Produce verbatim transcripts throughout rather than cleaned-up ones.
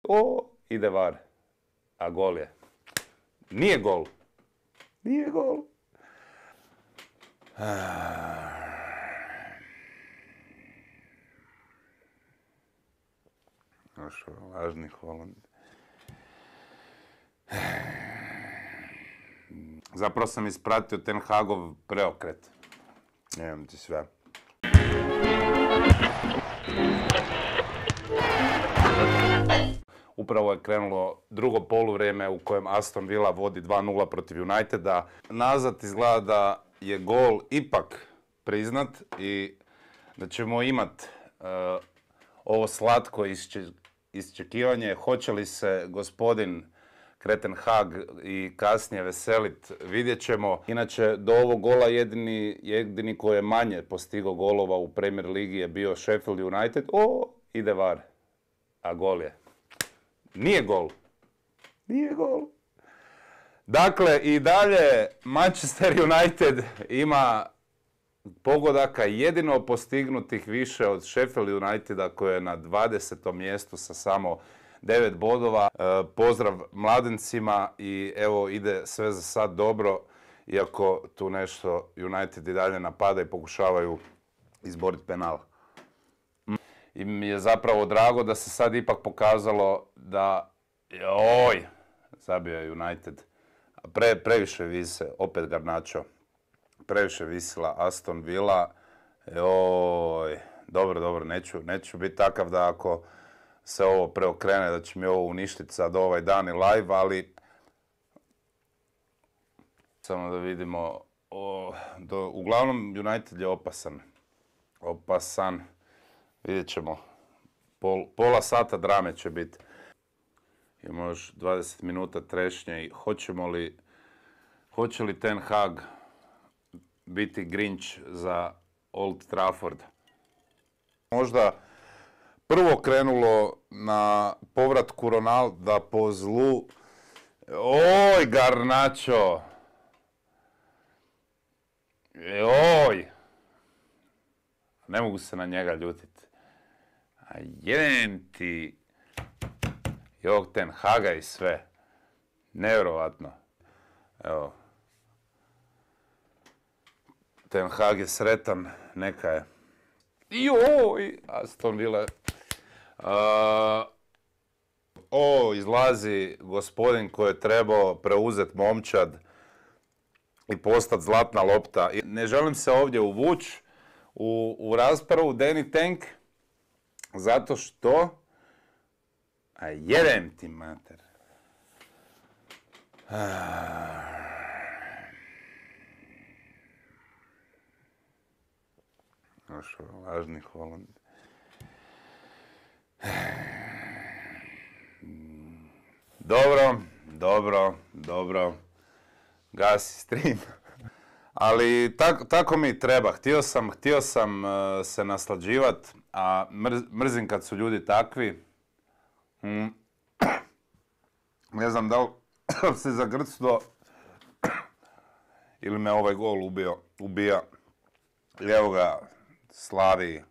o, ide var. A gol je. Nije gol. Nije gol. Još lažni Holand. Zapravo sam ispratio Ten Hagov preokret. Nemam ti sve. Upravo je krenulo drugo poluvrijeme u kojem Aston Villa vodi dva nula protiv Uniteda. Nazad izgleda da je gol ipak priznat i da ćemo imat uh, ovo slatko iščekivanje. Hoće li se gospodin Ten Hag i kasnije veselit, vidjet ćemo. Inače, do ovog gola jedini, jedini koji je manje postigao golova u Premier Ligi je bio Sheffield United. O, ide var. A gol je. Nije gol. Nije gol. Dakle, i dalje Manchester United ima pogodaka jedino postignutih više od Sheffield Uniteda koji je na dvadesetom mjestu sa samo devet bodova. E, pozdrav mladencima i evo ide sve za sad dobro, iako tu nešto United i dalje napada i pokušavaju izboriti penal. I mi je zapravo drago da se sad ipak pokazalo da, joj, zabio je United. Pre, previše vise, opet Garnacho, previše visila Aston Villa. Joj, dobro, dobro, neću, neću biti takav da ako se ovo preokrene, da će mi ovo uništiti sad ovaj dan i live, ali samo da vidimo. O, do, uglavnom, United je opasan. Opasan. Vidjet ćemo. Pol, pola sata drame će biti. Imamo još dvadeset minuta trešnje i hoćemo li, hoće li Ten Hag biti Grinch za Old Trafford? Možda prvo krenulo na povratku Ronalda po zlu. Oj, Garnacho! Oj! Ne mogu se na njega ljutiti. A jedem ti i ovog Ten Haga i sve. Nevjerovatno. Evo. Ten Hag je sretan, neka je. Joj! Aston Villa. Uh, o, izlazi gospodin koji je trebao preuzeti momčad i postati zlatna lopta. Ne želim se ovdje uvući u, u raspravu Danny Tank, zato što... A jedem ti, mater. Još lažni Holand. Dobro, dobro, dobro. Gasi stream. Ali tako, tako mi treba. Htio sam, htio sam uh, se naslađivat, a mrz, mrzim kad su ljudi takvi. Mm. Ne znam da li se zagrcdo ili me ovaj gol ubio, ubija. I evo ga, slavi.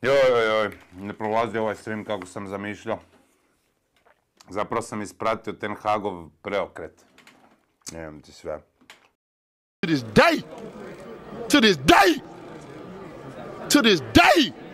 Joj, joj, joj, ne prolazi ovaj stream kako sam zamišljao. Zapravo sam ispratio Ten Hagov preokret. Nemam ti sve. To this day, to this day, to this day.